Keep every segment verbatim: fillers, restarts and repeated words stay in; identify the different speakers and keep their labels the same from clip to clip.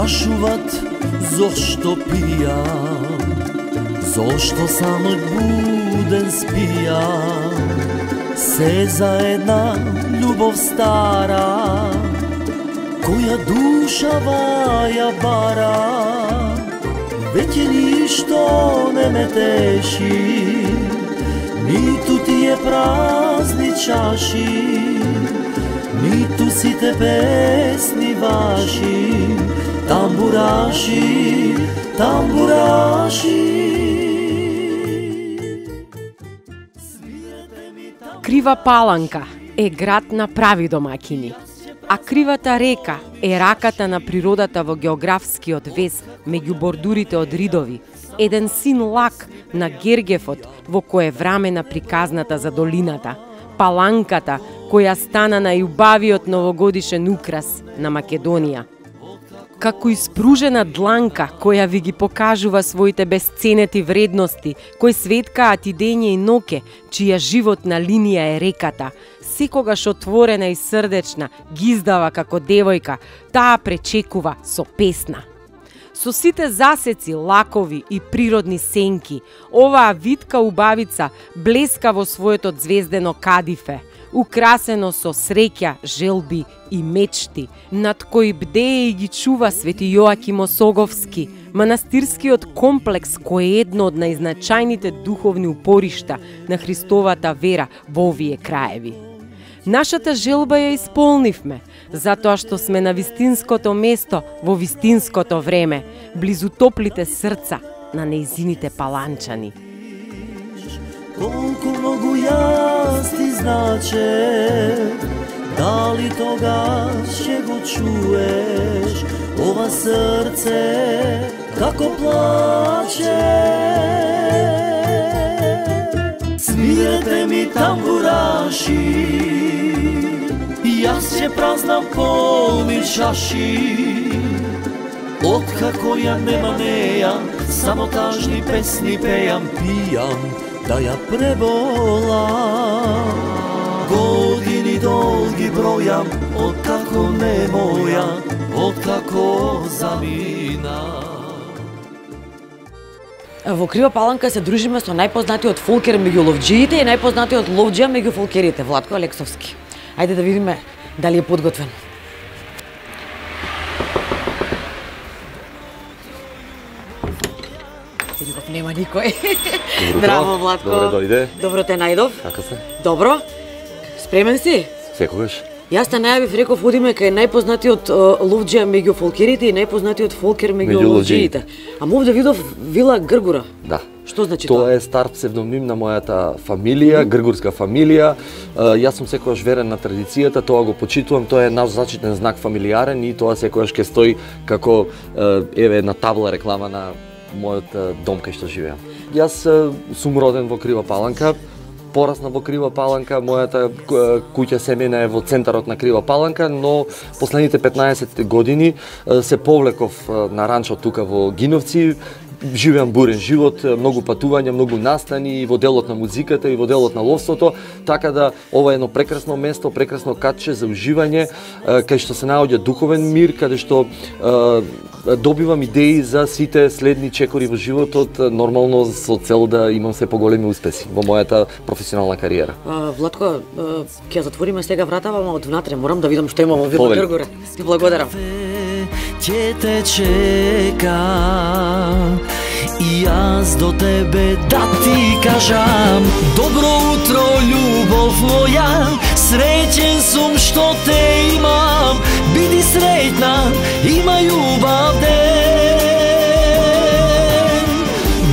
Speaker 1: прашуват зошто пијам, зошто само буден спијам, се за една љубов стара, која душава ја бара. Веќе ништо не ме теши, ниту тие празни чаши, ниту сите песни ваши, тамбураши, тамбураши.
Speaker 2: Крива Паланка е град на прави домаќини, а Кривата река е раката на природата во географскиот вез меѓу бордурите од ридови, еден син лак на Гергефот во кое време на приказната за долината, Паланката која стана најубавиот новогодишен украс на Македонија. Како испружена дланка која ви ги покажува своите бесценети вредности, кои светкаат и дење и ноќе, чија животна линија е реката, секогаш отворена и срдечна, гиздава како девојка, таа пречекува со песна. Со сите засеци, лакови и природни сенки, оваа витка убавица блеска во своето звездено кадифе, украсено со среќа, желби и мечти, над кои бдее и ги чува Свети Јоаким Осоговски, манастирскиот комплекс кој е едно од најзначајните духовни упоришта на Христовата вера во овие краеви. Нашата желба ја исполнивме, затоа што сме на вистинското место во вистинското време, близу топлите срца на нејзините паланчани.
Speaker 1: Колку многу јас ти значе, дали тогаш ќе го чуеш ова срце како плаче? Свирете ми тамбураши, јас ќе празнам полни чаши. Откако ја нема неја, само тажни песни пејам, пијам да ја пребола. Години долги бројам, откако не моја, откако замина.
Speaker 3: Во Крива Паланка се дружиме со најпознатиот фолкер меѓу ловџиите и најпознатиот ловџија меѓу фолкерите, Владко Алексовски. Ајде да видиме дали е подготвен. Видов нема никој. Браво, Владко.
Speaker 4: Добре дојде.
Speaker 3: Добро те најдов.
Speaker 4: Како се?
Speaker 3: Добро. Спремен си?
Speaker 4: Секогаш.
Speaker 3: Јас те најавив, реков, одиме кај најпознатиот ловџија меѓу фолкерите и најпознатиот фолкер меѓу ловџиите. А мов да видов Вила Гргура.
Speaker 4: Да.
Speaker 3: Што значи тоа?
Speaker 4: Тоа е стар псевдоним на мојата фамилија, гргурска фамилија. Јас сум секогаш верен на традицијата, тоа го почитувам, тоа е наш зачитен знак фамилијарен и тоа секогаш ќе стои како еве една табла реклама на мојот дом кај што живеам. Јас сум роден во Крива Паланка, порасна во Крива Паланка, мојата куќа семејна е во центарот на Крива Паланка, но последните петнаесет години се повлеков на ранчо тука во Гиновци. Живеам бурен живот, многу патувања, многу настани и во делот на музиката и во делот на ловството, така да ова е едно прекрасно место, прекрасно катче за уживање, кај што се наоѓа духовен мир, каде што е, добивам идеи за сите следни чекори во животот, нормално со цел да имам се поголеми успеси во мојата професионална кариера.
Speaker 3: А, Владко, ќе затвориме сега вратава, ама од внатре морам да видам што има во Вила Гргура. Ти благодарам.
Speaker 1: Ќе те чека и јас до тебе да ти кажам добро утро, љубов моја, среќен сум што те имам, биди среќна, имај убав ден.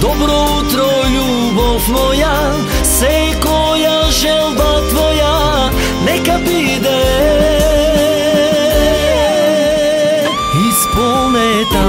Speaker 1: Добро утро, љубов моја, секоја желба твоја нека биде исполнета.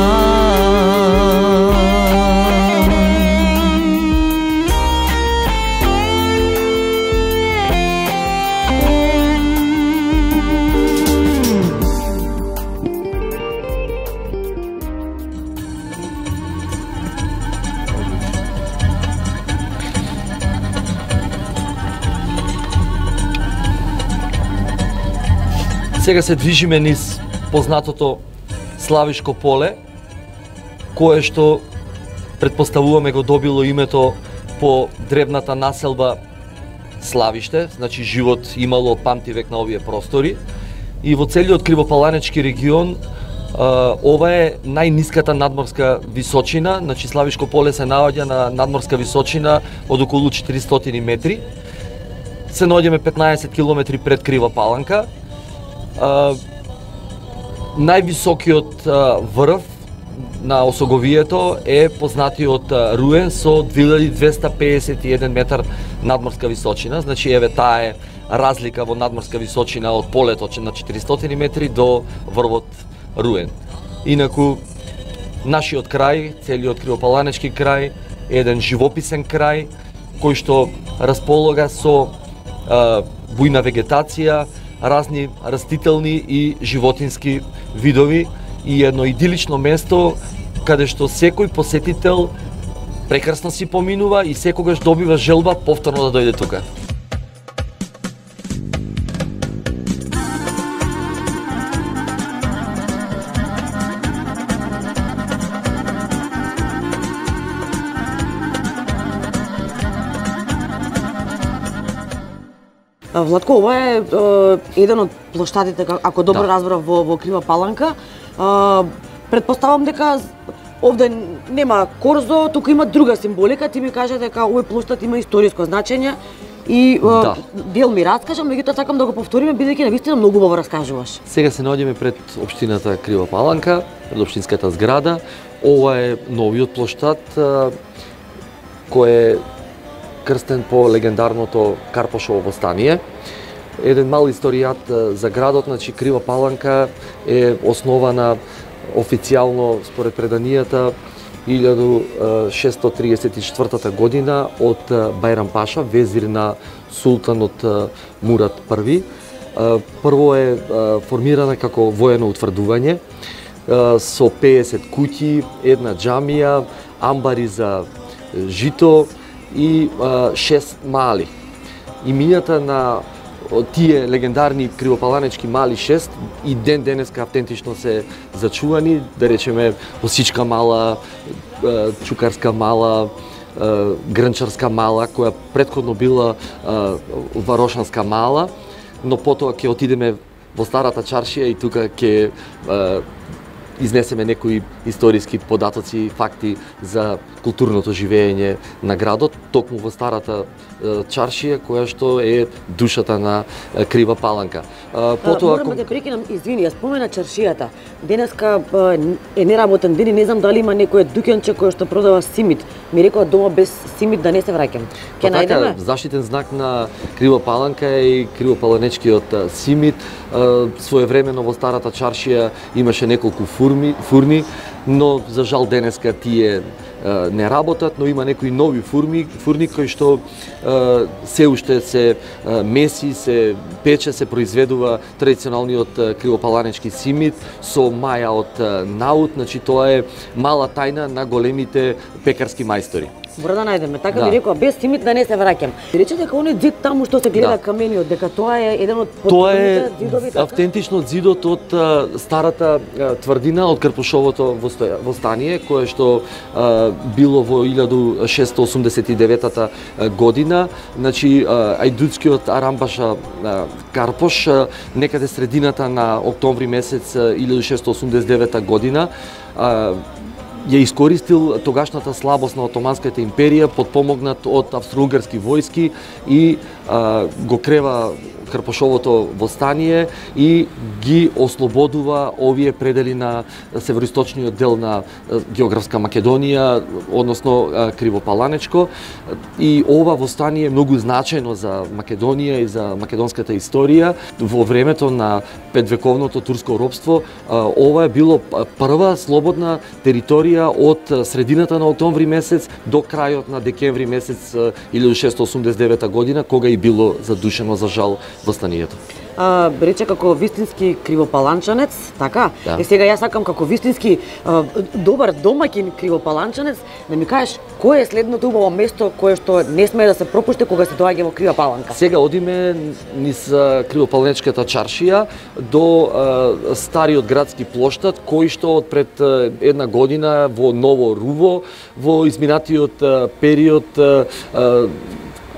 Speaker 4: Сега се движиме низ познатото Славишко поле, кое што претпоставуваме го добило името по древната населба Славиште, значи живот имало памтивек на овие простори. И во целиот Кривопаланечки регион ова е најниската надморска височина, значи Славишко поле се наоѓа на надморска височина од околу четиристотини метри. Се наоѓаме петнаесет километри пред Крива Паланка. Највисокиот врв на Осоговието е познатиот Руен со две илјади двесте пеесет и еден метар надморска височина, значи еве таа е разлика во надморска височина од полето на четиристотини метри до врвот Руен. Инаку, нашиот крај, целиот Кривопаланечки крај, е еден живописен крај, кој што располага со а, бујна вегетација, разни растителни и животински видови и едно идилично место каде што секој посетител прекрасно си поминува и секогаш добива желба повторно да дојде тука.
Speaker 3: Владко, ова е, е еден од плоштадите, ако добро да. разбрав, во, во Крива Паланка. А, предпоставам дека овде нема корзо, туку има друга символика. Ти ми кажа дека овој плоштад има историско значење и да. дел ми раскажа, меѓутоа сакам да го повториме, бидејќи навистина многу убаво раскажуваш.
Speaker 4: Сега се наоѓаме пред општината Крива Паланка, пред општинската зграда. Ова е новиот плоштад кој е крстен по легендарното Карпошово востание. Еден мал историјат за градот, значи Крива Паланка е основана официјално според преданијата илјаду шестстотини триесет и четвртата година од Бајрам Паша, везир на султанот Мурат први. Прво е формирана како воено утврдување со пеесет куќи, една џамија, амбари за жито и шест мали. Имињата на тие легендарни кривопаланечки мали шест и ден денеска автентично се зачувани, да речеме Осичка мала, Чукарска мала, Грнчарска мала, која претходно била Варошанска мала, но потоа ќе отидеме во старата чаршија и тука ќе изнесеме некои историски податоци, факти за културното живење на градот, токму во старата чаршија, која што е душата на Крива Паланка.
Speaker 3: Потоа морам да прекинам, извини, ја спомена чаршијата. Денеска е неработен ден и не знам дали има некој дуќанче кој што продава симит. Ми рекоа дома без симит да не се враќам. Ќе најдеме?
Speaker 4: Заштитен знак на Крива Паланка е и кривопаланечкиот симит. Своевремено во старата чаршија имаше неколку фурми, фурни, но за жал денеска тие не работат, но има некои нови фурми, фурни кои што се уште се меси, се пече, се произведува традиционалниот кривопаланечки симит со маја од наут, значи тоа е мала тајна на големите пекарски мајстори.
Speaker 3: Мора да најдеме. Така да. Ми рекоа без симит да не се враќам. Рече дека оној зид таму што се гледа да. камениот, дека тоа е еден од
Speaker 4: Тоа е зидови, така? Автентично зидот од а, старата а, тврдина од Карпушовото востание, кое што а, било во илјаду шестстотини осумдесет и деветата година. Значи а, ајдутскиот Арамбаша а, Карпош а, некаде средината на октомври месец илјаду шестстотини осумдесет и девета година а, ја искористил тогашната слабост на Отоманската империја, подпомогнат од австро-угарски војски и а, го крева Карпошовото востание и ги ослободува овие предели на североисточниот дел на географска Македонија, односно Кривопаланечко. И ова востание е многу значајно за Македонија и за македонската историја. Во времето на петвековното турско робство, ова е било прва слободна територија од средината на октомври месец до крајот на декември месец илјаду шестстотини осумдесет и девета година, кога и било задушено за жал востанието.
Speaker 3: а, рече како вистински кривопаланчанец, така?
Speaker 4: Да.
Speaker 3: Е сега јас сакам како вистински а, добар домаќин кривопаланчанец да ми кажеш кој е следното убаво место кое што не смее да се пропушти кога се доаѓа во Крива Паланка.
Speaker 4: Сега одиме низ Кривопаланечката чаршија до а, стариот градски плоштад кој што од пред а, една година во ново руво во изминатиот а, период а, а,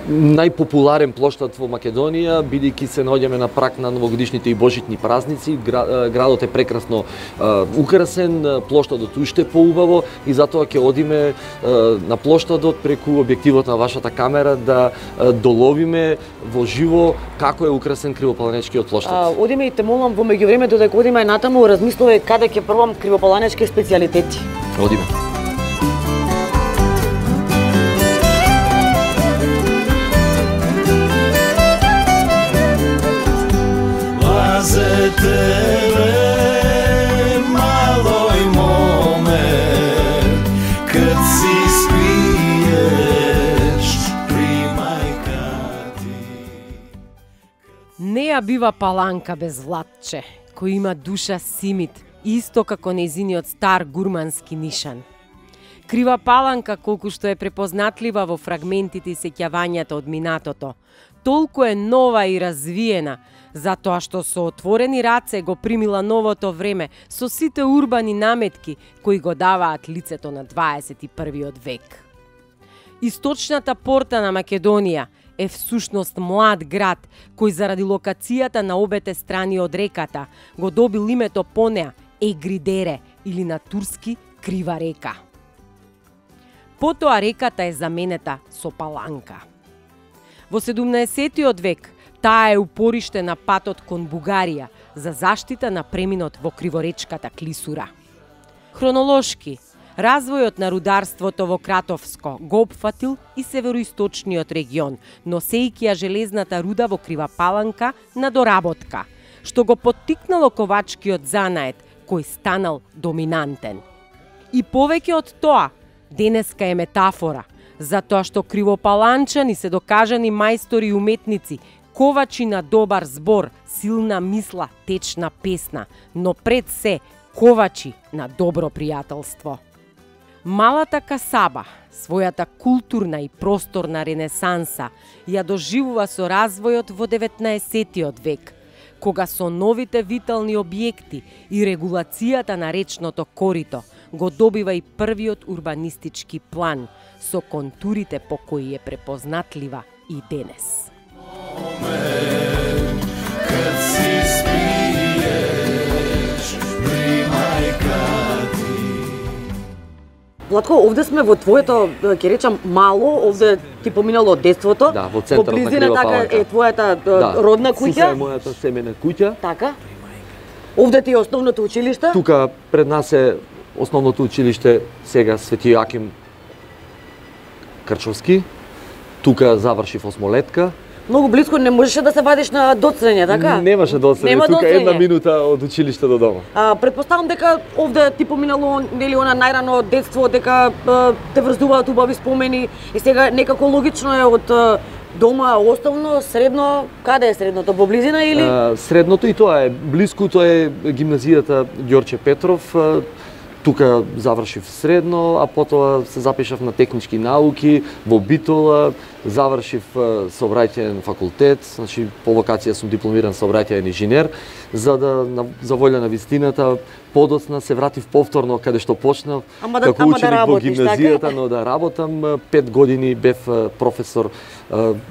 Speaker 4: најпопуларен плоштад во Македонија, бидејќи се наоѓаме на прак на новогодишните и божитни празници. Градот е прекрасно а, украсен, плоштадот уште поубаво и затоа ќе одиме а, на плоштадот преку објективот на вашата камера да а, доловиме во живо како е украсен Кривопаланечкиот плоштад.
Speaker 3: А, одиме и те молам во меѓувреме додека одиме натаму размислуваме каде ќе пробам кривопаланечки специјалитети.
Speaker 4: Одиме.
Speaker 1: За тебе, малој момент, кад си спиеш при мајка ти.
Speaker 2: Не ја бива Паланка без Владче, кој има душа симит, исто како нејзиниот стар гурмански нишан. Крива Паланка, колку што е препознатлива во фрагментите и сеќавањата од минатото, толку е нова и развиена, затоа што со отворени раце го примила новото време со сите урбани наметки кои го даваат лицето на дваесет и првиот век. Источната порта на Македонија е всушност млад град кој заради локацијата на обете страни од реката го добил името по неа Егридере или на турски Крива река. Потоа реката е заменета со Паланка. Во седумнаесеттиот век таа е упориште на патот кон Бугарија за заштита на преминот во Криворечката клисура. Хронолошки, развојот на рударството во Кратовско го опфатил и североисточниот регион, носејќи ја железната руда во Крива Паланка на доработка, што го поттикнало ковачкиот занаед, кој станал доминантен. И повеќе од тоа, денеска е метафора, затоа што кривопаланчани се докажани мајстори и уметници, ковачи на добар збор, силна мисла, течна песна, но пред се ковачи на добро пријателство. Малата Касаба, својата културна и просторна ренесанса, ја доживува со развојот во деветнаесеттиот век, кога со новите витални објекти и регулацијата на речното корито го добива и првиот урбанистички план, со контурите по кои е препознатлива и денес.
Speaker 1: Кад си спиеш при мајка ти.
Speaker 3: Владко, овде сме во твоето, ќе речам, мало, овде ти поминало детството.
Speaker 4: Да, во центарот на Крива Паланка.
Speaker 3: Така е твојата
Speaker 4: Да,
Speaker 3: родна куќа.
Speaker 4: Сиса е мојата семена куќа.
Speaker 3: Така. Овде ти е основното училиште.
Speaker 4: Тука пред нас е основното училиште сега Свети Јоаким Крчовски. Тука завршив осмолетка.
Speaker 3: Многу близко, не можеше да се вадиш на доцрење, така?
Speaker 4: Немаше доцрење,
Speaker 3: Нема
Speaker 4: тука
Speaker 3: доцрење.
Speaker 4: една минута од училиште до дома.
Speaker 3: А, предпоставам дека овде ти поминало нели она најрано детство, дека а, те врзуваат убави спомени и сега некако логично е од а, дома основно, средно, каде е средното, во близина или?
Speaker 4: А, средното и тоа е блиску, тоа е гимназијата Ѓорче Петров. А, тука завршив средно, а потоа се запишав на технички науки во Битола, завршив сообраќајен факултет, значи по вокација сум дипломиран сообраќајен инженер, за да за волја на вистината подоцна се вратив повторно каде што почнав,
Speaker 3: ама да,
Speaker 4: како
Speaker 3: ама
Speaker 4: ученик
Speaker 3: да работиш,
Speaker 4: во гимназијата,
Speaker 3: така?
Speaker 4: но да работам. Пет години бев професор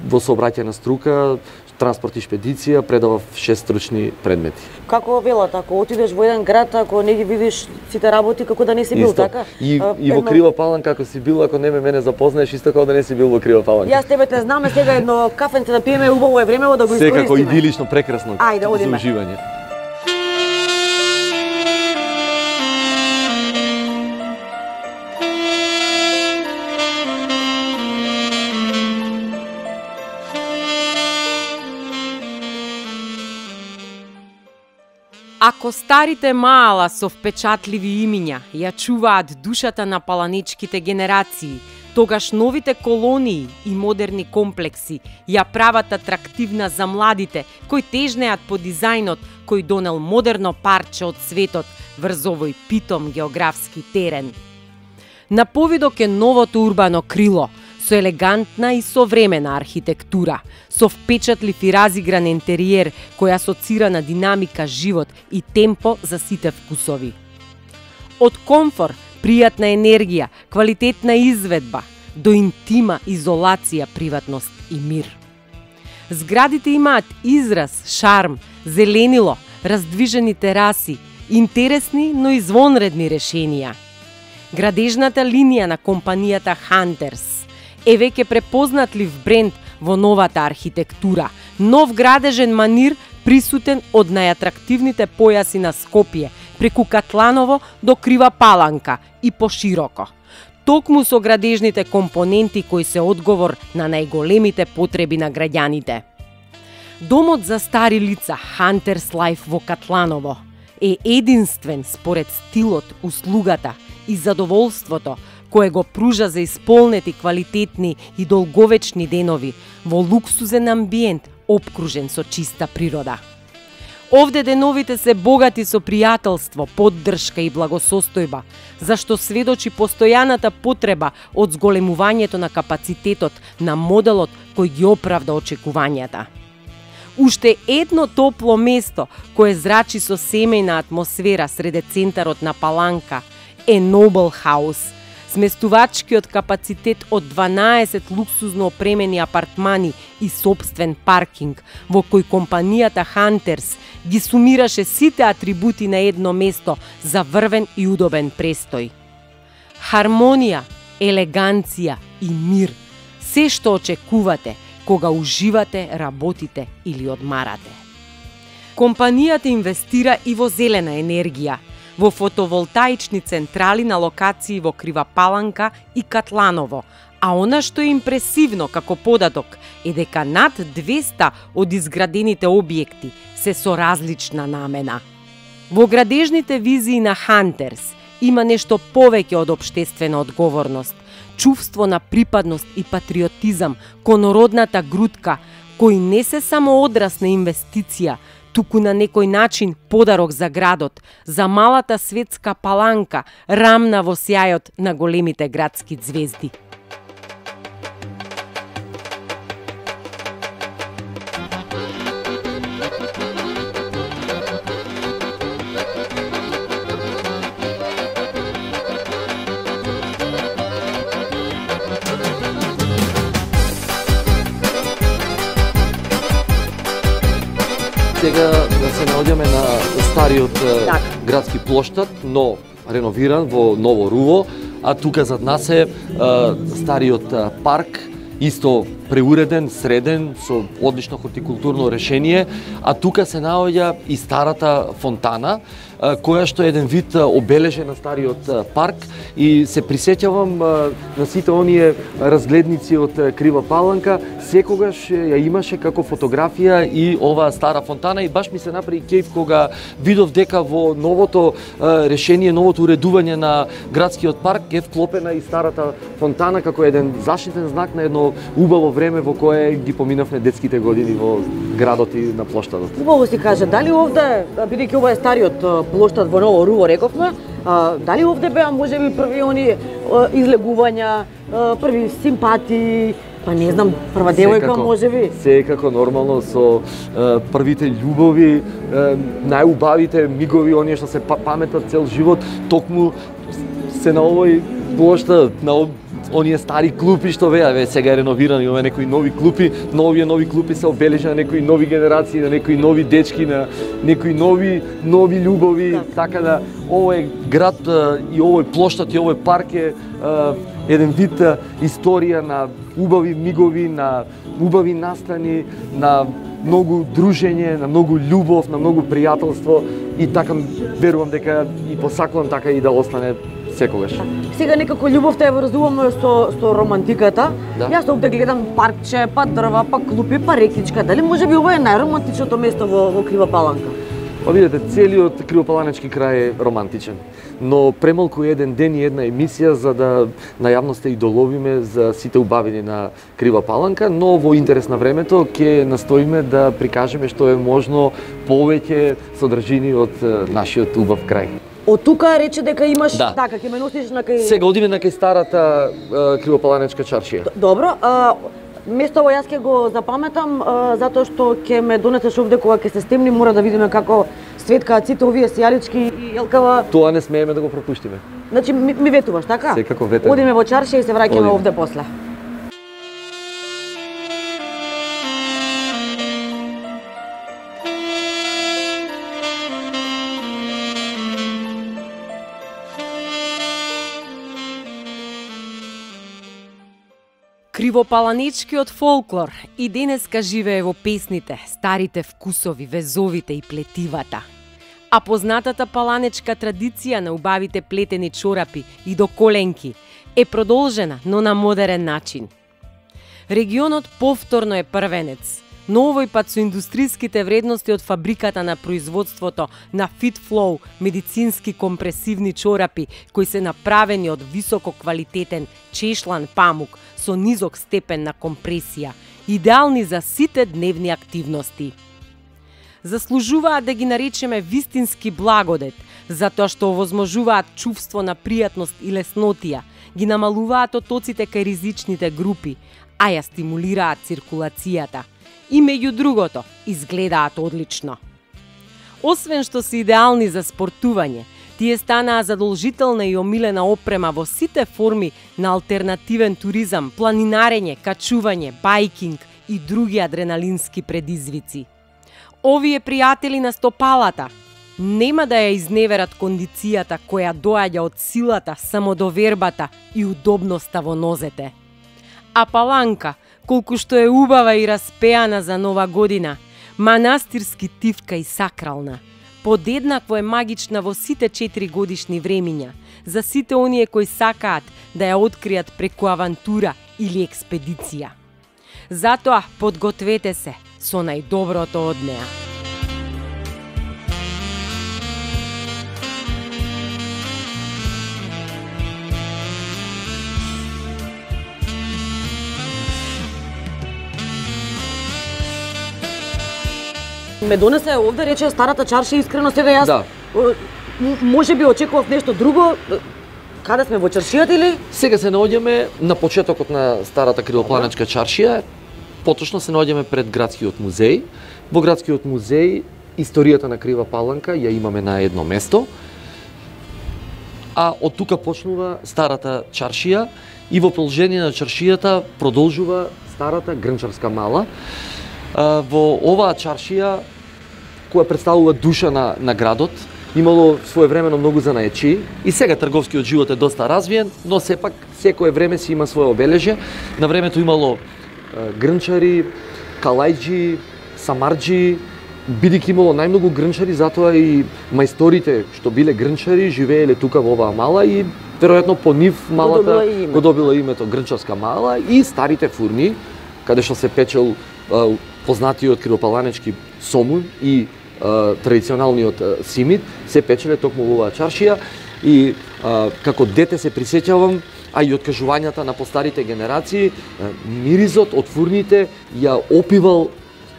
Speaker 4: во сообраќајна струка, транспорт и шпедиција, предавав шест стручни предмети.
Speaker 3: Како велат, ако отидеш во еден град, ако не ги видиш сите работи, како да не си бил,
Speaker 4: Исто.
Speaker 3: така?
Speaker 4: И,
Speaker 3: А,
Speaker 4: и во
Speaker 3: едно-
Speaker 4: Крива Паланка, ако си бил, ако не ме мене запознаеш, исто како да не си бил во Крива Паланка.
Speaker 3: Јас тебе те знаме, сега едно кафенце да пиеме, убаво е времево да го
Speaker 4: Секако
Speaker 3: искористиме.
Speaker 4: идилично, прекрасно.
Speaker 3: Ајде,
Speaker 4: за
Speaker 3: одиме.
Speaker 4: уживање.
Speaker 2: Ако старите маала со впечатливи имиња ја чуваат душата на паланечките генерации, Тогаш новите колонии и модерни комплекси ја прават атрактивна за младите кои тежнеат по дизајнот кој донел модерно парче од светот врз овој питом географски терен. На повидок е новото урбано крило со елегантна и современа архитектура, со впечатлив и разигран интериер кој асоцира на динамика, живот и темпо за сите вкусови. Од комфор, пријатна енергија, квалитетна изведба, до интима, изолација, приватност и мир. Зградите имаат израз, шарм, зеленило, раздвижени тераси, интересни, но извонредни решенија. Градежната линија на компанијата Хантерс е веќе препознатлив бренд во новата архитектура, нов градежен манир присутен од најатрактивните појаси на Скопје, преку Катланово до Крива Паланка и пошироко. Токму со градежните компоненти кои се одговор на најголемите потреби на граѓаните. Домот за стари лица Хантерс Лајф во Катланово е единствен според стилот, услугата и задоволството кое го пружа за исполнети, квалитетни и долговечни денови во луксузен амбиент обкружен со чиста природа. Овде деновите се богати со пријателство, поддршка и благосостојба, зашто сведочи постојаната потреба од зголемувањето на капацитетот на моделот кој ги оправда очекувањата. Уште едно топло место кое зрачи со семејна атмосфера среде центарот на Паланка е Нобел Хаус, сместувачкиот капацитет од дванаесет луксузно опремени апартмани и собствен паркинг, во кој компанијата Хантерс ги сумираше сите атрибути на едно место за врвен и удобен престој. Хармонија, елеганција и мир, се што очекувате кога уживате, работите или одмарате. Компанијата инвестира и во зелена енергија, во фотоволтаични централи на локации во Крива Паланка и Катланово, а она што е импресивно како податок е дека над двеста од изградените објекти се со различна намена. Во градежните визии на Хантерс има нешто повеќе од општествена одговорност, чувство на припадност и патриотизам кон родната грудка, кои не се само одраз на инвестиција, туку на некој начин подарок за градот, за малата светска Паланка, рамна во сјајот на големите градски звезди.
Speaker 4: Сега да се наоѓаме на стариот
Speaker 3: так.
Speaker 4: градски плоштад, но реновиран во ново руво, а тука зад нас е стариот парк, исто преуреден, среден, со одлично хортикултурно решение, а тука се наоѓа и старата фонтана, која што е еден вид обележен на стариот парк, и се присеќавам на сите оние разгледници од Крива Паланка, секогаш ја имаше како фотографија и оваа стара фонтана, и баш ми се направи кејф кога видов дека во новото решение, новото уредување на градскиот парк е вклопена и старата фонтана како еден заштитен знак на едно убаво време во кое ги поминавме детските години во градот и на плоштадот.
Speaker 3: Убаво си каже, дали овде, бидејќи ова е стариот плоштад во Ново Руво, рековме, а, дали овде беа можеби први они а, излегувања, а, први симпатии, па не знам, прва девојка можеби?
Speaker 4: Секако нормално со а, првите љубови, а, најубавите мигови, оние што се паметат цел живот, токму се на овој плоштад, на оние стари клупи што беа, ве сега е реновирано, имаме некои нови клупи, но овие нови клупи се обележани на некои нови генерации, на некои нови дечки, на некои нови нови љубови, да. Така да овој град и овој плоштад и овој парк е еден вид историја на убави мигови, на убави настани, на многу дружење, на многу љубов, на многу пријателство, и така верувам дека и посакувам така и да остане секогаш.
Speaker 3: Сега некако љубовта ја врзуваме со со романтиката.
Speaker 4: Да.
Speaker 3: Јас овде гледам паркче, па дрва, па клупи, па рекичка. Дали можеби ова е најромантичното место во, во Крива Паланка?
Speaker 4: Па видите, целиот Кривопаланечки крај е романтичен, но премалку еден ден и една емисија за да на јавноста и доловиме за сите убавини на Крива Паланка, но во интерес на времето ќе настоиме да прикажеме што е можно повеќе содржини од нашиот убав крај.
Speaker 3: Од тука рече дека имаш,
Speaker 4: да.
Speaker 3: така, ќе ме носиш на кај...
Speaker 4: Сега одиме на кај старата Кривопаланечка чаршија.
Speaker 3: Добро, а, место јас ќе го запаметам, а, затоа што ќе ме донесеш овде кога ќе се стемни, мора да видиме како светкаат сите овие сијалички и елкава.
Speaker 4: Тоа не смееме да го пропуштиме.
Speaker 3: Значи ми, ми ветуваш, така?
Speaker 4: Секако ветувам.
Speaker 3: Одиме во чаршија и се враќаме овде после.
Speaker 2: Кривопаланечкиот фолклор и денеска живее во песните, старите вкусови, везовите и плетивата. А познатата паланечка традиција на убавите плетени чорапи и до коленки е продолжена, но на модерен начин. Регионот повторно е првенец, но овој пат со индустриските вредности од фабриката на производството на FitFlow медицински компресивни чорапи кои се направени од високо квалитетен чешлан памук со низок степен на компресија, идеални за сите дневни активности. Заслужуваат да ги наречеме вистински благодет, затоа што овозможуваат чувство на пријатност и леснотија, ги намалуваат отоците кај ризичните групи, а ја стимулираат циркулацијата. И меѓу другото, изгледаат одлично. Освен што се идеални за спортување, тие станаа задолжителна и омилена опрема во сите форми на алтернативен туризам, планинарење, качување, байкинг и други адреналински предизвици. Овие пријатели на стопалата нема да ја изневерат кондицијата која доаѓа од силата, самодовербата и удобноста во нозете. А Паланка, колку што е убава и распеана за нова година, манастирски тивка и сакрална, подеднакво е магична во сите четири годишни времиња, за сите оние кои сакаат да ја откријат преку авантура или експедиција. Затоа подгответе се со најдоброто од неа.
Speaker 3: Ме донесе овде, рече старата чаршија, искрено сега јас
Speaker 4: Да.
Speaker 3: може би очекував нешто друго. Каде сме, во чаршијата или?
Speaker 4: Сега се наоѓаме на почетокот на старата Кривопаланечка чаршија, поточно се наоѓаме пред градскиот музеј. Во градскиот музеј историјата на Крива Паланка ја имаме на едно место, а од тука почнува старата чаршија и во продолжение на чаршијата продолжува старата Грнчарска мала. Во оваа чаршија, која представува душа на, на градот, имало своевремено многу занаечи и сега трговскиот живот е доста развиен, но сепак секое време си има свое обележје. На времето имало е, грнчари, калајџи, самарџи, бидејќи имало најмногу грнчари, затоа и мајсторите што биле грнчари живееле тука во оваа мала и веројатно по нив малата го добила името Грнчарска мала и старите фурни, каде што се печел е, познатиот кривопаланечки сомун и а, традиционалниот а, симит, се печеле токму во оваа чаршија и а, како дете се присеќавам, а и од кажувањата на постарите генерации, а, миризот од фурните ја опивал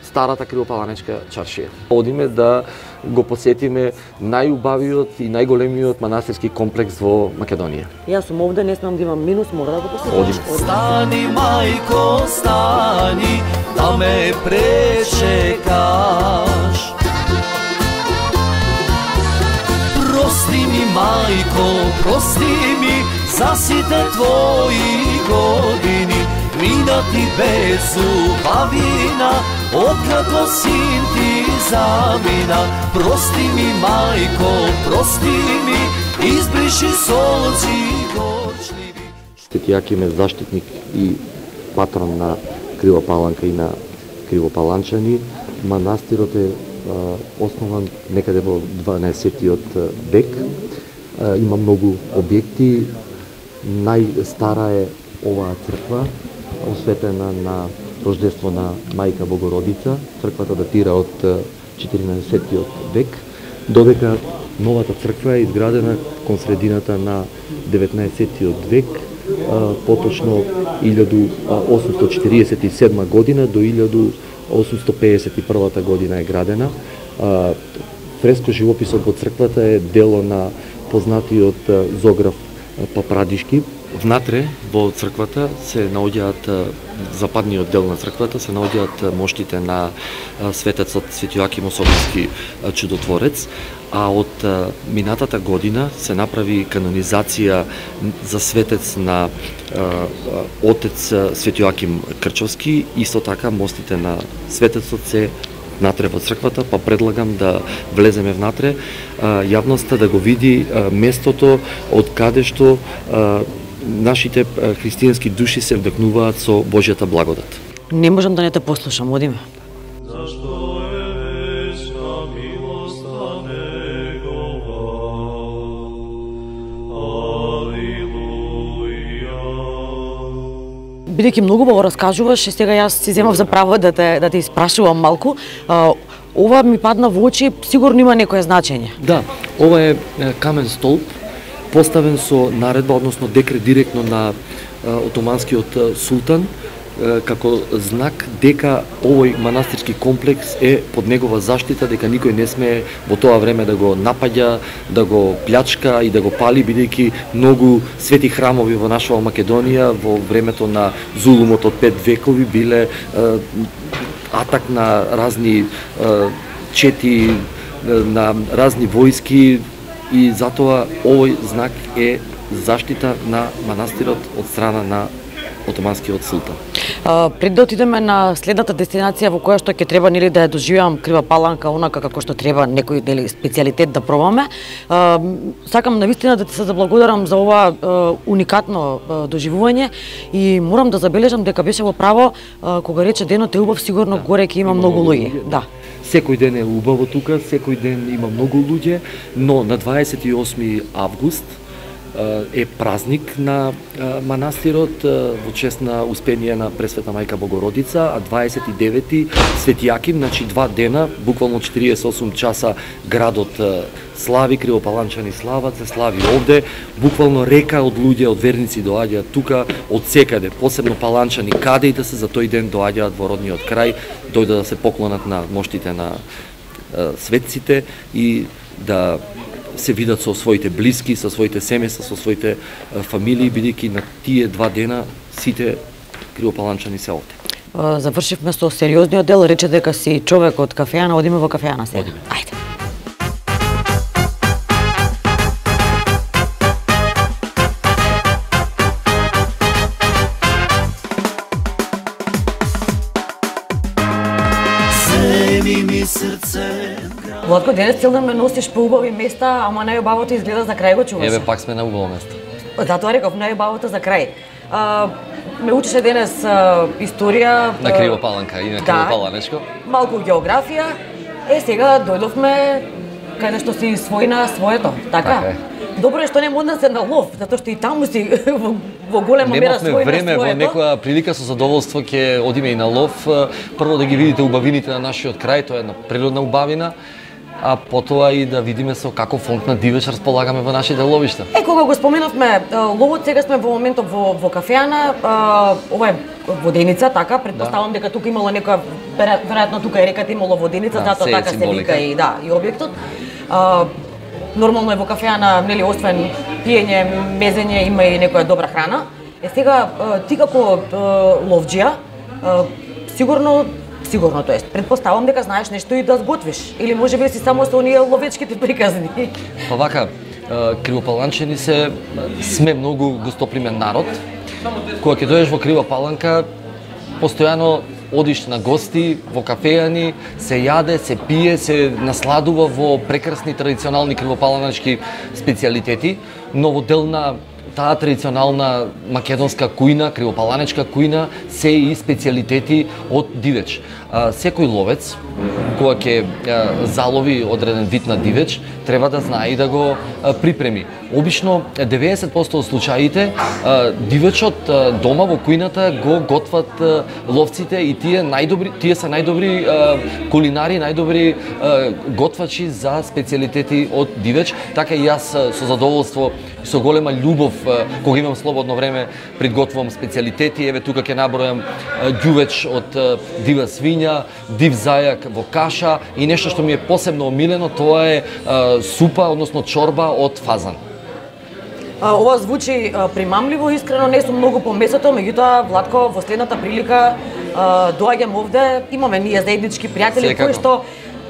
Speaker 4: старата Кривопаланечка чаршија. Одиме да го посетиме најубавиот и најголемиот манастирски комплекс во Македонија.
Speaker 3: Јас сум овде, не смеам да имам минус, мора да го посетам.
Speaker 4: Одиме.
Speaker 1: Стани, мајко, стани, да ме пречекаш. Прости ми, мајко, прости ми за сите твои години, минати без убавина, откако син ти замина. Прости ми, мајко, прости ми, избриши солзи горчливи.
Speaker 4: Свети Јаким е заштитник и патрон на Крива Паланка и на Кривопаланчани. Манастирот е а, основан некаде во дванаесеттиот век. А, има многу објекти. Најстара е оваа црква, осветена на рождество на Мајка Богородица. Црквата датира од четиринаесеттиот век додека новата црква е изградена кон средината на деветнаесеттиот век, поточно илјаду осумсто четиридесет и седма година до илјаду осумсто пеесет и прва година е градена. Фреско живописот во црквата е дело на познатиот зограф Папрадишки. Внатре во црквата се наоѓаат, западниот дел на црквата се наоѓаат моштите на светецот Свети Јоаким Особински чудотворец, а од минатата година се направи канонизација за светец на отец Свети Јоаким Крчовски. Исто така мостите на светецот се внатре во црквата, па предлагам да влеземе внатре, јавноста да го види местото од каде што нашите христијански души се вдъхнуваат со Божјата благодат.
Speaker 3: Не можам да не те послушам, одиме. Бидејќи многу го раскажуваш, сега јас си земав за право да те да те испрашувам малку. А, ова ми падна во очи, сигурно има некое значење.
Speaker 4: Да, ова е камен столб поставен со наредба, односно декрет директно на отоманскиот султан, како знак дека овој манастирски комплекс е под негова заштита, дека никој не смее во тоа време да го напаѓа, да го плячка и да го пали, бидејќи многу свети храмови во нашава Македонија во времето на зулумот од пет векови биле атак на разни чети, на разни војски, и затоа овој знак е заштита на манастирот од страна на отоманскиот султан.
Speaker 3: А, пред да отидеме на следната дестинација во која што ќе треба нели да ја доживеам Крива Паланка онака како што треба некој дели специјалитет да пробаме, а, сакам навистина да ти се заблагодарам за ова а, уникатно а, доживување и морам да забележам дека беше во право а, кога рече денот е убав, сигурно да, горе ќе има многу луѓе. Да.
Speaker 4: Секој ден е убаво тука, секој ден има многу луѓе, но на дваесет и осми август е празник на манастирот во чест на успение на Пресвета Мајка Богородица, а дваесет и девети Свети Јаким, значи два дена, буквално четириесет и осум часа градот слави, кривопаланчани слават, се слави овде, буквално река од луѓе, од верници доаѓаат тука од секаде, посебно паланчани, каде и да се за тој ден доаѓаат во родниот крај, дојдат да се поклонат на моштите на светците и да се видат со своите блиски, со своите семејства, со своите фамилии, бидејќи на тие два дена сите кривопаланчани се овде.
Speaker 3: Завршивме со сериозниот дел, рече дека си човек од кафејана, одиме во кафејана сега.
Speaker 4: Одиме.
Speaker 3: Ајде. Владко, денес цел ден ме носиш по убави места, ама најубавото изгледа за крај, го чуваш.
Speaker 4: Еве, пак сме на убаво место.
Speaker 3: Затоа реков, најубавото за крај. А, ме учеше денес а, историја...
Speaker 4: На Крива Паланка и на
Speaker 3: да,
Speaker 4: Кривопаланечко.
Speaker 3: Малку географија. Е, сега дојдовме каде што си својна своето, така?
Speaker 4: Така е.
Speaker 3: Добро е што не модна се на лов, затоа што и таму си во, во голема мера својна своето.
Speaker 4: Немавме време, во некоја прилика со задоволство ќе одиме и на лов. Прво да ги видите убавините на нашиот крај, тоа е една природна убавина, а потоа и да видиме со каков фонд на дивеч располагаме во нашите ловишта.
Speaker 3: Е, кога го споменавме ловот, сега сме во моментот во, во кафејана, ова е воденица, така, предпоставам да, дека тука имало некоја, веројатно тука е реката имало воденица, да, затоа така се вика и да, и објектот. А, нормално е во кафејана, нели, освен пиење, мезење, има и некоја добра храна. Е, сега, ти како ловџија, сигурно Сигурно, тоа е. Предпоставам дека знаеш нешто и да сготвиш, или можеби си само со оние ловечките приказни.
Speaker 4: Па вака, кривопаланчани се сме многу гостопримен народ. Кога ќе дојдеш во Крива Паланка, постојано одиш на гости, во кафејани, се јаде, се пие, се насладува во прекрасни традиционални кривопаланачки специјалитети, но во дел на таа традиционална македонска кујна, кривопаланечка кујна, се и специјалитети од дивеч. Секој ловец, кога ќе залови одреден вид на дивеч, треба да знае и да го припреми. обично деветдесет проценти од случаите дивечот дома во кујната го готват ловците и тие најдобри тие се најдобри кулинари, најдобри готвачи за специјалитети од дивеч. Така и јас со задоволство и со голема љубов кога имам слободно време приготвувам специјалитети. Еве тука ќе набројам ѓувеч од дива свиња, див зајак во каша и нешто што ми е посебно омилено, тоа е супа, односно чорба од фазан.
Speaker 3: Ова звучи примамливо, искрено не сум многу по месото, меѓутоа Владко, во следната прилика доаѓам овде, имаме ние заеднички пријатели кои што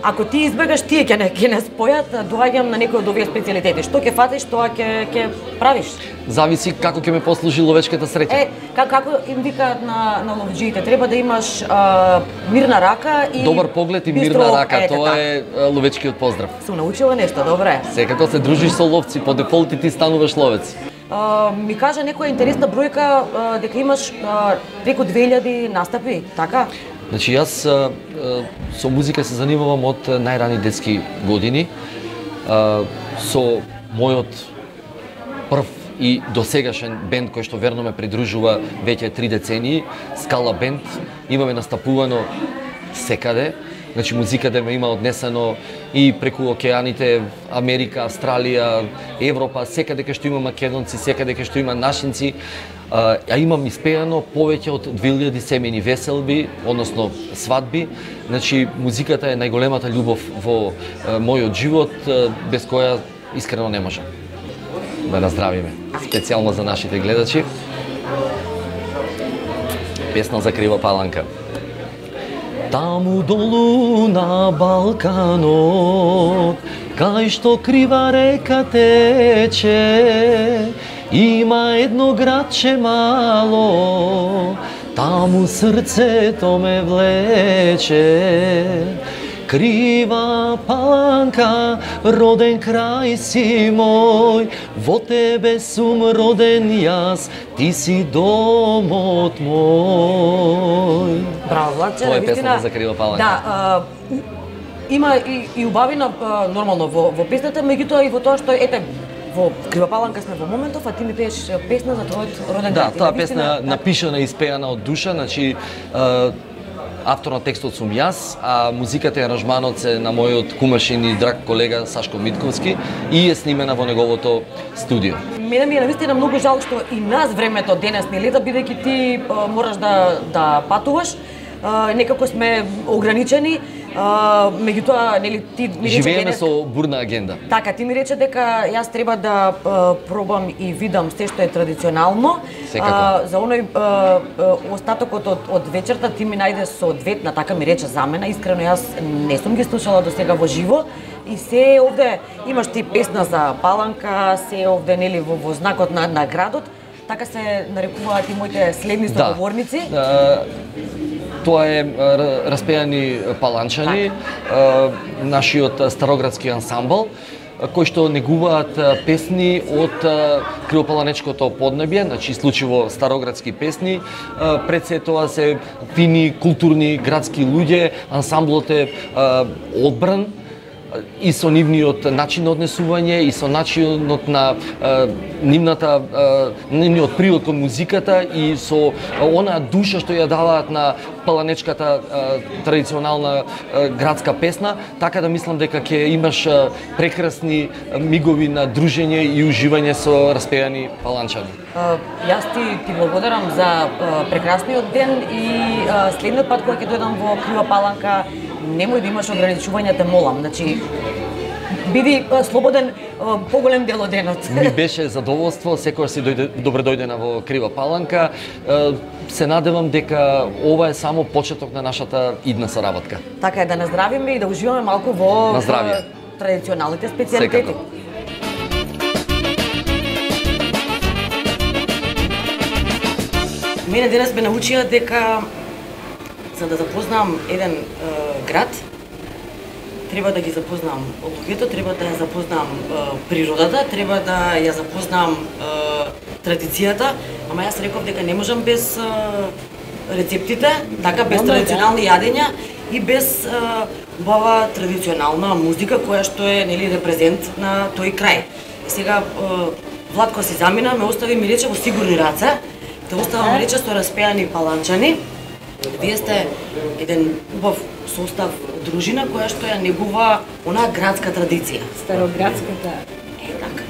Speaker 3: ако ти избегаш, тие ќе не ќе не спојат, доаѓам на некој од овие специјалитети. Што ќе фатиш, тоа ќе ќе правиш.
Speaker 4: Зависи како ќе ме послужи ловечката среќа.
Speaker 3: Е, как, како им викаат на на ловџиите, треба да имаш а, мирна рака и
Speaker 4: добар поглед и
Speaker 3: бистро,
Speaker 4: мирна рака,
Speaker 3: ете,
Speaker 4: тоа
Speaker 3: така.
Speaker 4: е ловечкиот поздрав.
Speaker 3: Сум научила нешто, добре.
Speaker 4: Секако се дружиш со ловци, по дефолт и ти стануваш ловец.
Speaker 3: А, ми кажа некоја интересна бројка а, дека имаш а, преку две илјади настапи, така?
Speaker 4: Значи јас а, а, со музика се занимавам од најрани детски години. А, со мојот прв и досегашен бенд кој што верно ме придружува веќе три децении, Скала бенд, имаме настапувано секаде. Значи музиката ме има однесено и преку океаните, Америка, Австралија, Европа, секаде кај што има македонци, секаде кај што има нашинци. А, а имам испеано повеќе од две илјади семејни веселби, односно свадби. Значи музиката е најголемата љубов во а, мојот живот, а, без која искрено не можам. Да наздравиме. Специјално за нашите гледачи. Песна за Крива Паланка. Таму долу на Балканот, кај што крива река тече, има едно градче мало, таму срцето ме влече. Крива Паланка, роден крај си мој, во тебе сум роден јас, ти си домот мој.
Speaker 3: Браво, Владче,
Speaker 4: тоа е
Speaker 3: навистина.
Speaker 4: песната за Крива Паланка.
Speaker 3: Да, а, има и, и убавина а, нормално во, во песната, меѓутоа и во тоа што ете во Крива Паланка сме во моментов, а ти ми пееш песна за твојот роден
Speaker 4: Да,
Speaker 3: град.
Speaker 4: таа песна напишана и испеана од душа, значи автор на текстот сум јас, а музиката и аранжманот се на мојот кумашин и драг колега Сашко Митковски и е снимена во неговото студио.
Speaker 3: Мене ми е навистина многу жал што и нас времето денес не лета, бидејќи ти а, мораш да да патуваш. А, некако сме ограничени. А, меѓутоа, нели ти ми рече
Speaker 4: Живееме
Speaker 3: денес...
Speaker 4: со бурна агенда.
Speaker 3: Така, ти ми рече дека јас треба да а, пробам и видам се што е традиционално. А, за оној а, а, остатокот од, од вечерта ти ми најде соодветна, така ми рече за мене. Искрено јас не сум ги слушала до сега во живо. И се овде имаш ти песна за Паланка, се овде нели во, во знакот на, на градот. Така се нарекуваат и моите следни соговорници.
Speaker 4: Да. Тоа е распеани паланчани, нашиот староградски ансамбл, кои што негуваат песни од кривопаланечкото поднебје, значи случајно староградски песни. Пред се тоа се фини, културни, градски луѓе, ансамблот е одбран и со нивниот начин на однесување и со начинот на е, нивната е, нивниот прилог кон музиката и со онаа душа што ја даваат на паланечката е, традиционална е, градска песна, така да мислам дека ќе имаш е, прекрасни мигови на дружење и уживање со распеани паланчани.
Speaker 3: Uh, јас ти, ти благодарам за uh, прекрасниот ден и uh, следниот пат кога ќе дојдам во Крива Паланка, немој да имаш ограничувања, те молам. Значи, биди uh, слободен uh, поголем дел од денот.
Speaker 4: Ми беше задоволство, секогаш си дојде, добре дојдена во Крива Паланка. Uh, се надевам дека ова е само почеток на нашата идна соработка.
Speaker 3: Така е, да наздравиме и да уживаме малку во
Speaker 4: uh,
Speaker 3: традиционалните специјалитети. Мене денес ме научија дека за да запознам еден е, град, треба да ги запознам луѓето, треба да ја запознам е, природата, треба да ја запознам е, традицијата, ама јас реков дека не можам без е, рецептите, така без традиционални јадења и без е, убава традиционална музика која што е нели репрезент на тој крај. И сега Владко си замина, ме остави ми рече во сигурни раце, те оставам рече со распеани паланчани. Вие сте еден убав состав дружина која што ја негува онаа градска традиција.
Speaker 5: Староградската.
Speaker 3: Е, така.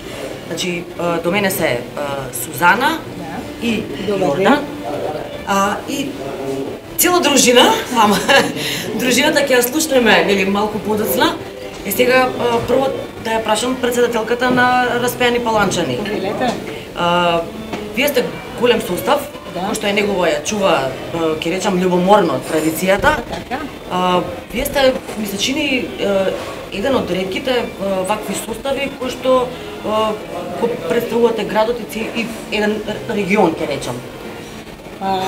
Speaker 3: Значи, до мене се Сузана да. И Јордан. А, и цела дружина, ама дружината ќе ја слушнеме, нели, малку подоцна. И сега прво да ја прашам председателката на Распеани паланчани. А, вие сте голем состав, да. Кој што е негова ја чува, ќе речам, љубоморно традицијата.
Speaker 5: Така.
Speaker 3: А, вие сте, ми се чини, еден од ретките вакви состави кои што го представувате градот и еден регион, ќе речам.
Speaker 5: А,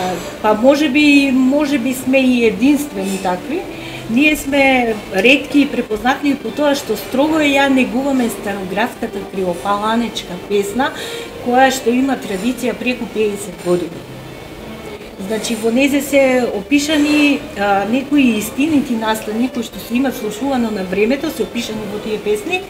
Speaker 5: па може би, може би сме и единствени такви. Ние сме ретки и препознатливи по тоа што строго ја негуваме староградската кривопаланечка песна, која што има традиција преку педесет години. Значи, во незе се опишани а, некои истинити настани кои што се имат слушувано на времето, се опишани во тие песни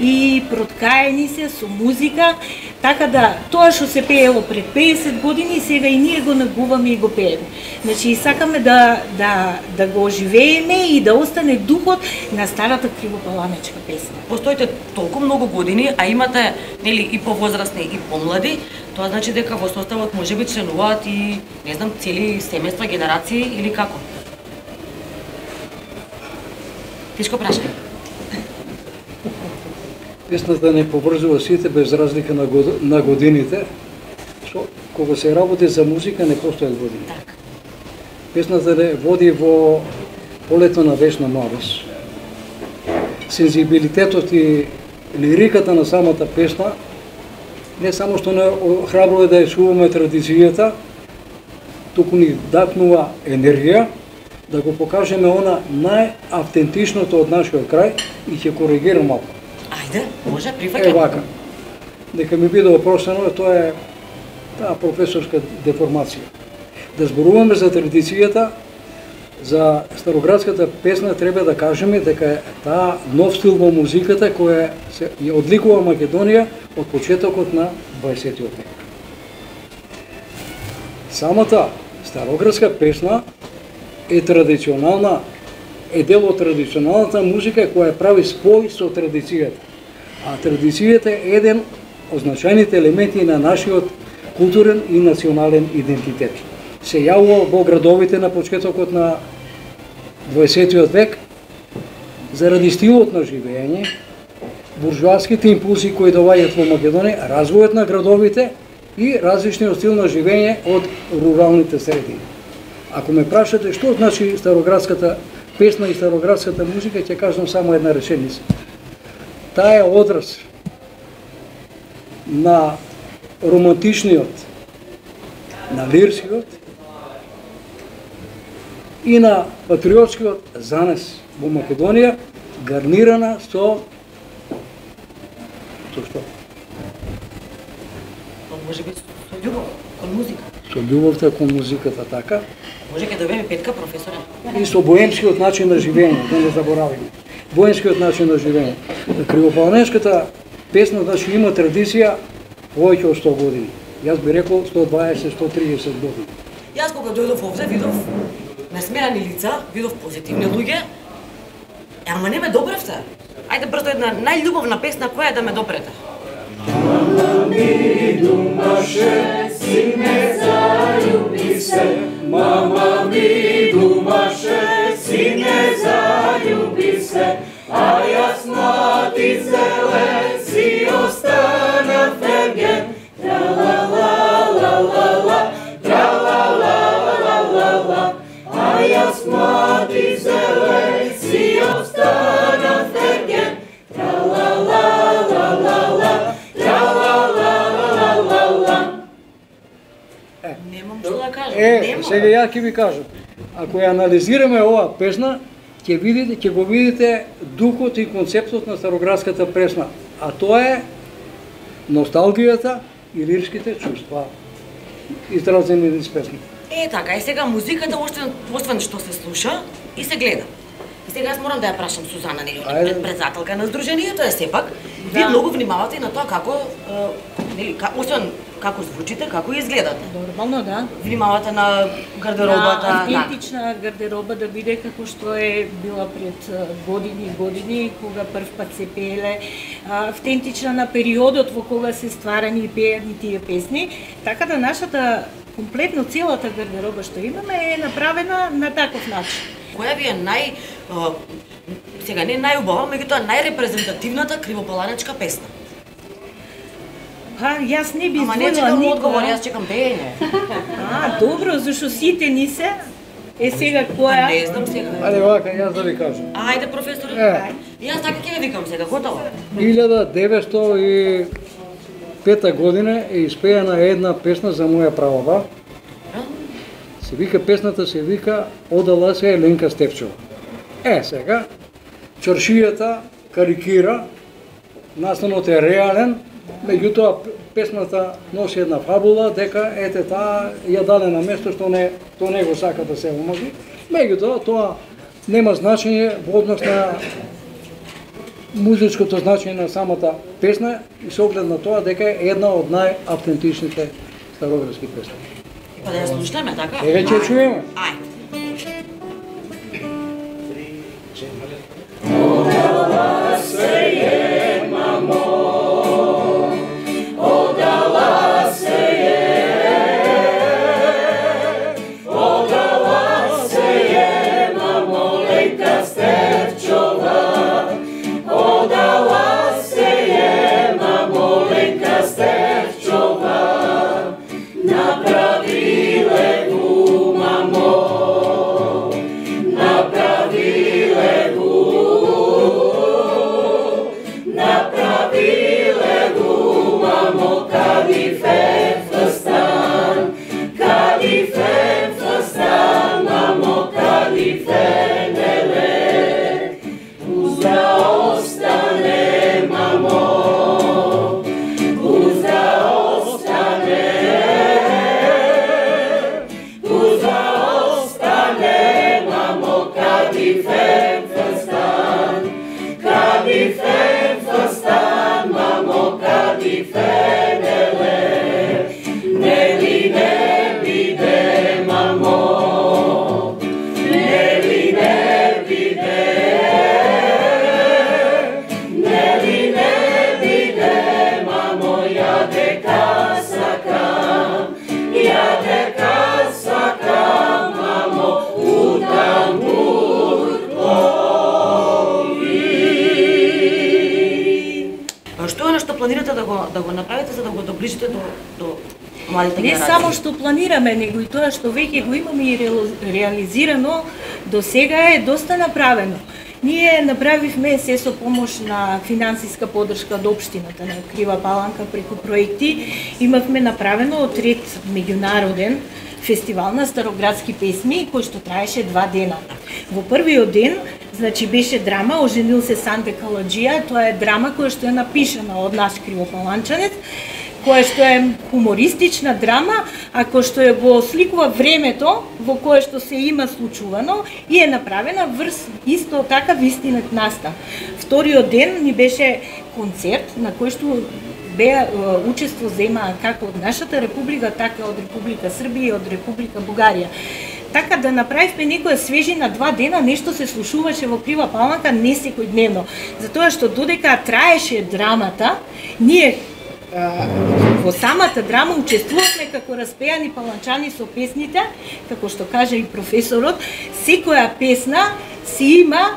Speaker 5: и проткаени се со музика, така да тоа што се пеело пред педесет години сега и ние го негуваме и го пееме. Значи, сакаме да да да го оживееме и да остане духот на старата кривопаланечка песна.
Speaker 3: Постоите толку многу години, а имате нели и повозрастни и помлади, тоа значи дека во составот можеби членуваат и не знам цели семејства, генерации или како? Тешко прашање.
Speaker 6: Песната не поврзува сите без разлика на, год... на годините. Со кога се работи за музика не постојат години.
Speaker 3: Так.
Speaker 6: Песната не води во полето на вечна младост. Сензибилитетот и лириката на самата песна не само што не храбро е да ја чуваме традицијата, туку ни дакнува енергија да го покажеме она најавтентичното од нашиот крај и ќе коригирам малку.
Speaker 3: Ајде, може, прифаќам.
Speaker 6: Е вака. Дека ми биде опростено, тоа е таа професорска деформација. Да зборуваме за традицијата, за староградската песна треба да кажеме дека таа нов стил во музиката која се ја одликува Македонија од почетокот на дваесеттиот век. Самата староградска песна е традиционална, е дел од традиционалната музика која прави спој со традицијата. А традицијата е еден од значајните елементи на нашиот културен и национален идентитет. Се јавува во градовите на почетокот на дваесеттиот век заради стилот на живење, буржуаските импулси кои доаѓаат во Македонија, развојот на градовите и различниот стил на живење од руралните средини. Ако ме прашате што значи староградската песна и староградската музика, ќе кажам само една реченица. Таа е одраз на романтичниот, на лирскиот и на патриотскиот занес во Македонија, гарнирана со со што?
Speaker 3: Може би со љубов кон музика.
Speaker 6: Со љубовта кон музиката, така.
Speaker 3: Може ќе добиеме петка, професоре.
Speaker 6: И со боемскиот начин на живење, да не заборавиме. Боемскиот начин на живење. Кривопаланечката песна значи има традиција повеќе од сто години. Јас би рекол сто дваесет до сто триесет години.
Speaker 3: Јас кога дојдов овде видов насмеани лица, видов позитивни луѓе. Ама не ме допревте. Ајде брзо една најљубовна песна која е да ме допрете.
Speaker 7: Мама ми думаше, сине залюби се. Мама ми думаше, сине залюби се. А јас млад и зелен си останав верген. Тра-ла-ла-ла-ла-ла, тра-ла-ла-ла-ла-ла. А јас млад и зелен си останав верген. Тра-ла-ла-ла-ла-ла, тра-ла-ла-ла-ла-ла.
Speaker 3: Немам што да кажам.
Speaker 6: Е,
Speaker 3: Немам.
Speaker 6: сега ја ќе ви кажам. Ако ја анализираме оваа песна, ќе видите, ќе го видите духот и концептот на староградската песна, а тоа е носталгијата и лирските чувства изразени низ песна.
Speaker 3: Е, така, и сега музиката още освен што се слуша и се гледа. И сега јас морам да ја прашам Сузана, нели,
Speaker 6: Ајде.
Speaker 3: председателка на Сдруженијето е сепак. Ви многу внимавате и на тоа како, нели, освен како звучите, како изгледате.
Speaker 5: Нормално, да.
Speaker 3: Внимавате на гардеробата,
Speaker 5: на автентична гардероба да биде како што е била пред години и години, кога прв пат се пееле, автентична на периодот во кога се стварани и пеени тие песни, така да нашата комплетно целата гардероба што имаме е направена на таков начин.
Speaker 3: Која ви е нај сега не најубава, меѓутоа најрепрезентативната кривопаланечка песна?
Speaker 5: Па, јас не би
Speaker 3: Ама не чекам одговор, јас чекам пеење.
Speaker 5: А, добро, зашто сите ни се. Е сега која?
Speaker 3: Не знам сега.
Speaker 6: Ајде вака, јас да ви кажам.
Speaker 3: Ајде, професоре.
Speaker 6: Е.
Speaker 3: Јас така ќе ви викам сега, готово.
Speaker 6: илјада деветстотини и пета година е испејана една песна за моја прабаба. Се вика, песната се вика Одала се Еленка Стефчова. Е, сега, чоршијата карикира, настанот е реален, меѓутоа песната носи една фабула дека ете таа ја даде на место што не тоа не го сака да се омази. Меѓутоа тоа нема значење во однос на музичкото значење на самата песна и со оглед на тоа дека е една од најавтентичните староградски песни.
Speaker 3: Па да ја слушнеме, така?
Speaker 6: Еве ќе чуеме.
Speaker 3: Ајде.
Speaker 7: Одала се е, мамо, одала се е, одала се е, мамо, Ленка Стефчова, одала се е, мамо, Ленка Стефчова, направиле го, мамо, направиле го, направиле го, мамо, кадифе фстан, кадифе фстан, мамо, кадифе неле, узда остане, мамо, узда остане, узда остане, мамо, кадифе фстан, кадифе фстан, мамо, кадифе неле, нели не биде, мамо, нели не биде, нели не биде, мамо, ја дека сакам, ја дека сакам, мамо, у тамбур
Speaker 3: Што е нешто планирате да го да го направите за да го доближите до до младите
Speaker 5: Не
Speaker 3: генерации?
Speaker 5: само што планираме, него и тоа што веќе го имаме и реализирано, до сега е доста направено. Ние направивме се со помош на финансиска подршка од општината на Крива Паланка преку проекти. Имавме направено отред меѓународен фестивал на староградски песми кој што траеше два дена. Во првиот ден, значи беше драма Оженил се Санде Каладжија, тоа е драма која што е напишана од наш кривопаланчанец, која што е хумористична драма, а која што е го сликува времето во кое што се има случувано и е направена врз исто така вистинет настан. Вториот ден ни беше концерт на кој што беа учество зема како од нашата република, така од Република Србија и од Република Бугарија. Така да направивме некоја свежина два дена, нешто се слушуваше во Крива Паланка не секојдневно. Затоа што додека траеше драмата, ние во самата драма учествувавме како распеани паланчани со песните, како што каже и професорот, секоја песна си има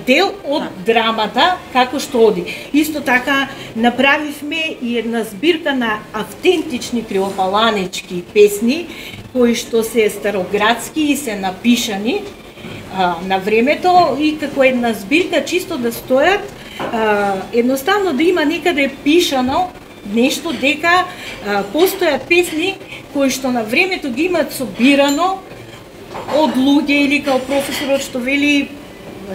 Speaker 5: дел од драмата како што оди. Исто така направивме и една збирка на автентични кривопаланечки песни кои што се староградски и се напишани а, на времето и како една збирка чисто да стојат, а, едноставно да има некаде пишано нешто дека а, постојат песни кои што на времето ги имаат собирано од луѓе или као професорот што вели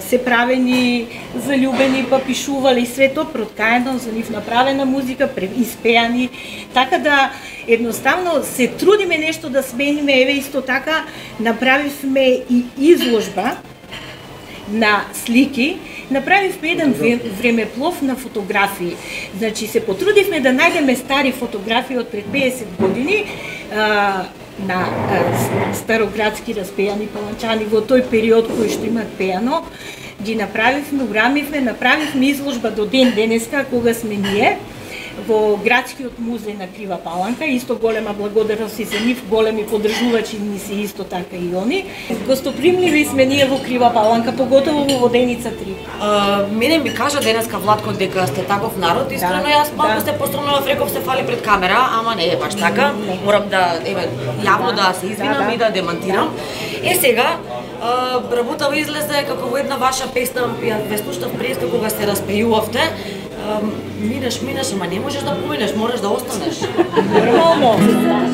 Speaker 5: се правени заљубени, па пишували свето проткаено за нив направена музика, испеани, така да едноставно се трудиме нешто да смениме. Еве исто така направивме и изложба на слики, направивме еден времеплов на фотографии. Значи се потрудивме да најдеме стари фотографии од пред педесет години а, на а, староградски распејани паланчани во тој период кој што имат пејано. Ги направивме, урамивме, направивме изложба до ден денеска кога сме ние во градскиот музеј на Крива Паланка. Исто голема благодарност и за нив, големи поддржувачи ни се исто така и они. Гостопримливи сме ние во Крива Паланка, поготово во Воденица три.
Speaker 3: А, мене ми кажа денеска Владко дека сте таков народ, искрено да, јас малку да. се пострамнував, реков се фали пред камера, ама не е баш така. Не. Морам да еве јавно да се извинам да, да. и да демантирам. Е сега а, работава излезе како во една ваша песна, ја ве слушнав преска кога се распејувавте. Минеш, минеш, ама не можеш да поминеш, мораш да останеш.
Speaker 5: Нормално.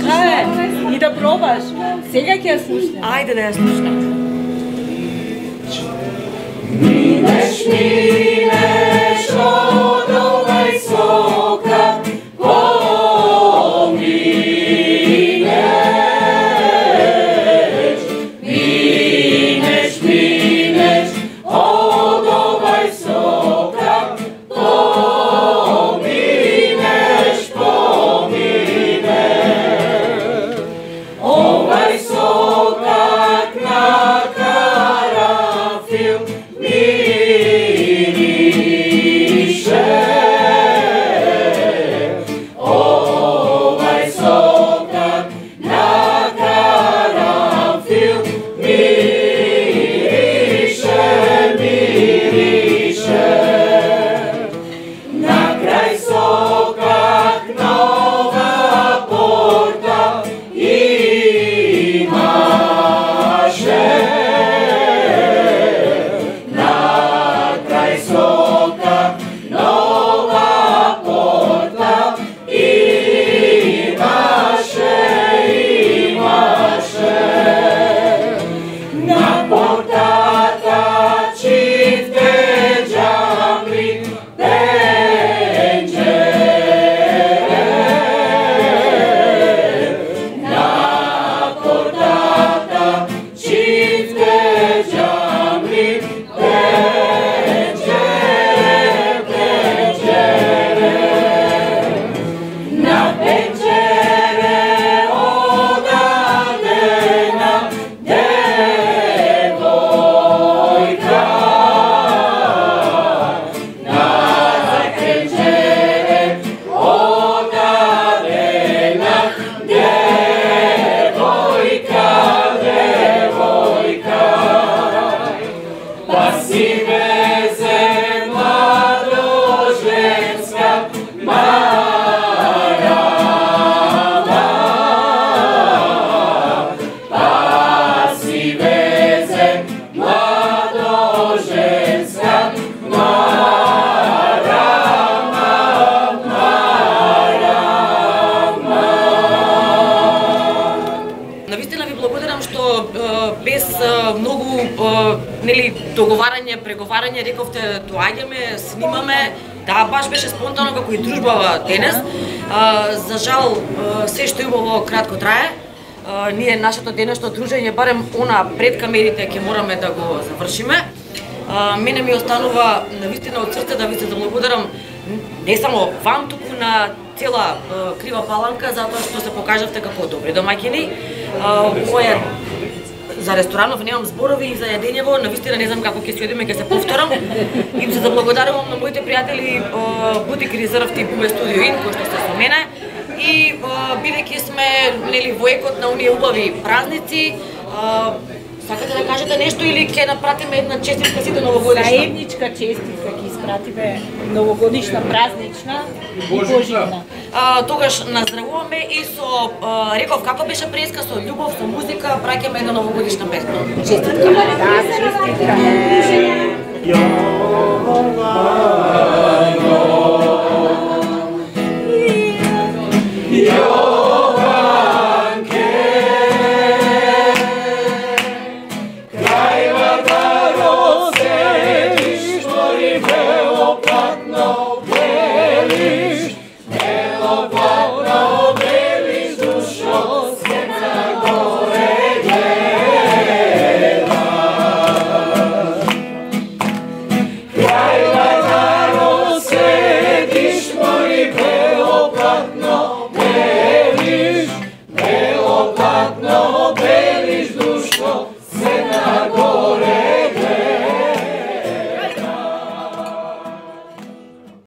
Speaker 5: Така е. И да пробаш. Сега ќе ја слушнем.
Speaker 3: Ајде да ја слушнем.
Speaker 7: Минеш, минеш од овај сокат, поминеш. Минеш, минеш од овај сокат, поминеш, поминеш. Овај сокак на карафил мирише. Овај сокак на карафил мирише, мирише. На крај сокак нова порта имаше. На крај сокак нова порта имаше, имаше. На портата чифте џабли пенџере. На портата чифте џабли пенџере, пенџере. На пенџере одадена девојка. На пенџере одадена девојка, девојка. Па си везе младоженска марама. Па си везе младоженска марама, марама.
Speaker 3: Навистина ви благодарам што е, без е, многу е, нели договарање, преговарање, рековте доаѓаме, снимаме. Да, баш беше спонтано како и дружбава денес. Е, за жал е, се што убаво кратко трае. Е, ние нашето денешно дружење, барем она пред камерите ќе мораме да го завршиме. Е, мене ми останува навистина од срце да ви се заблагодарам не само вам, туку на цела е, Крива Паланка, затоа што се покажавте како добри домаќини. Ова е за ресторанов немам зборови и за јадењево, навистина не знам како ќе се јадиме, ќе се повторам. Им се заблагодарувам на моите пријатели Бутик Резерв и Буме Студио Ин, кои што сте со мене. И бидејќи сме нели во екот на оние убави празници, сакате да кажете нешто или ќе напратиме една честитка сите новогодишна?
Speaker 5: Заедничка честитка ќе испратиме новогодишна, празнична и божитна.
Speaker 3: А, тогаш наздравуваме и со а, реков како беше преска, со љубов, со музика, праќаме една новогодишна песна. Честитка.
Speaker 5: Да, честитка.
Speaker 7: Јованке, крај Варваро седиш, твори бело платно белиш, бело платно